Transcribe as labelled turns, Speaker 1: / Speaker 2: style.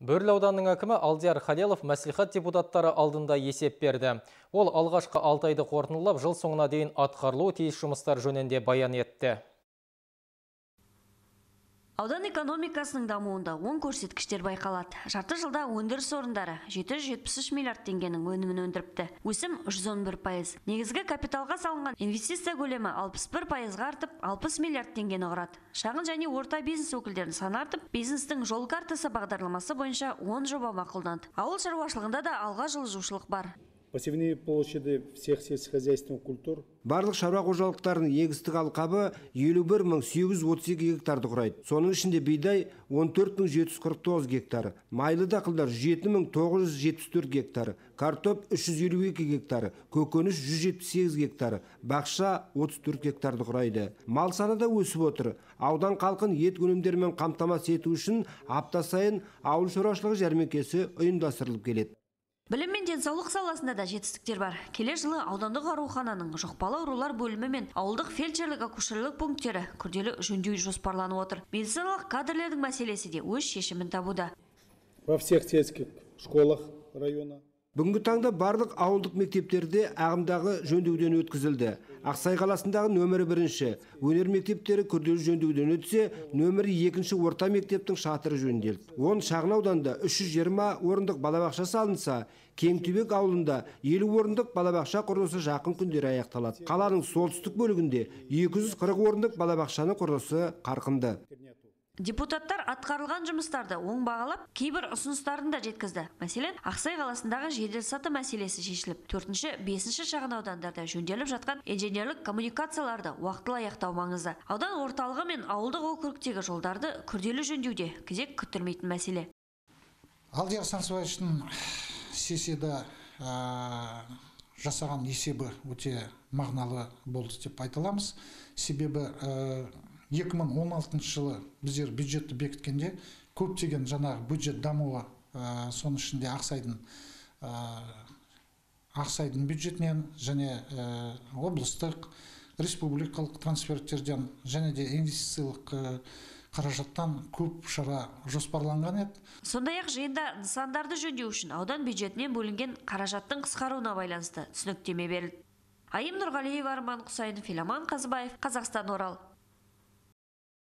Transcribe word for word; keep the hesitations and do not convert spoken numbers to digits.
Speaker 1: Бөрлі ауданының әкімі Алдияр Халелов мәслихат депутаттары алдында есеп берді. Ол алғашқы алты айды қорытындылап, жыл соңына дейін атқарылуы тиіс жұмыстар жөнінде баян етті.
Speaker 2: Аудан экономикасының дамуында оң көрсеткіштер байқалады. Жарты жылда өндіріс орындары жеті жүз жетпіс үш миллиард теңгенің өнімін өндіріпті. Өсім жүз он бір пайыз. Негізгі капиталға салынған инвестиция көлемі алпыс бір пайызға артып, алпыс миллиард теңгені құрады. Шағын және орта бизнес өкілдерін саны артып, бизнестің жол картасы бағдарламасы бойынша он жоба мақұлданды. Ауыл шаруашылығында да алға жылжушылық бар.
Speaker 3: Посевные площади всех сельскохозяйственных культур.
Speaker 4: Барлық шаруа қожалықтарының егістік алқабы елу бір мың сегіз жүз отыз екі гектарды құрайды. Соның ішінде бидай он төрт мың жеті жүз қырық тоғыз гектар, майлы дақылдар жеті мың тоғыз жүз жетпіс төрт гектар, картоп үш жүз елу екі гектар, көкөніс жүз жетпіс сегіз гектар, бақша отыз төрт гектарды құрайды. Мал саны да өсіп отыр. Аудан халқын ет өнімдерімен қамтамасыз ету үшін апта сайын ауыл шаруашылығы жәрмеңкесі ұйымдастырылып келеді.
Speaker 2: Білім мен денсаулық саласында да жетістіктер бар. Келер жылы аудандық аурухананың жұқпалы аурулар бөлімі мен ауылдық фельдшерлік акушерлік пункттері күрделі жөндеу жоспарланып отыр. Медициналық кадрлердің мәселесі де өз шешімін табуда.
Speaker 3: Во всех сельских школах района.
Speaker 4: Бүгінгі таңда барлық ауылдық мектептерде ағымдағы жөндеуден өткізілді. Ақсай қаласындағы нөмірі бірінші өнер мектептері күрделі жөндеуден өтсе, нөмірі екінші орта мектептің шатыры жөнделді. Он шағын ауданда үш жүз жиырма орындық балабақша салынса, Кеңтүбек ауылында елу орындық балабақша құрылысы жақын күндері аяқталады. Қаланың солтүстік бөлігінде екі жүз қырық орындық балабақшаны құрылысы қарқынды.
Speaker 2: Депутаттар атқарылған жұмыстарды оң бағалап, кейбір ұсыныстарын да жеткізді. Мәселен, Ақсай қаласындағы жеделсаты мәселесі шешіліп, төртінші, бесінші шағын аудандарда жөнделіп жатқан инженерлік коммуникацияларды уақытылы аяқтау маңызды. Аудан орталығы мен ауылдық округтегі жолдарды күрделі жөндеуде кезек күттірмейтін мәселе.
Speaker 5: Алдияр Сансыбаевичтің сессияда жасаған есебі өте мағыналы болды деп айта аламыз. Себебі екі мың он алтыншы жылы біздер бюджетті бекіткенде көптеген жаңағы бюджет дамуы, соның ішінде Ақсайдың Ақсайдың бюджетінен және облыстық, республикалық трансферттерден және де инвестициялық қаражаттан көп шара жоспарланған еді.
Speaker 2: Сондай-ақ жиында нысандарды жөндеу үшін аудан бюджетінен бөлінген қаражаттың қысқаруына байланысты түсініктеме берілді. Айым Нұрғалиева, Арман Құсайынов, Филаман Қазыбаев, Қазақстан, Орал.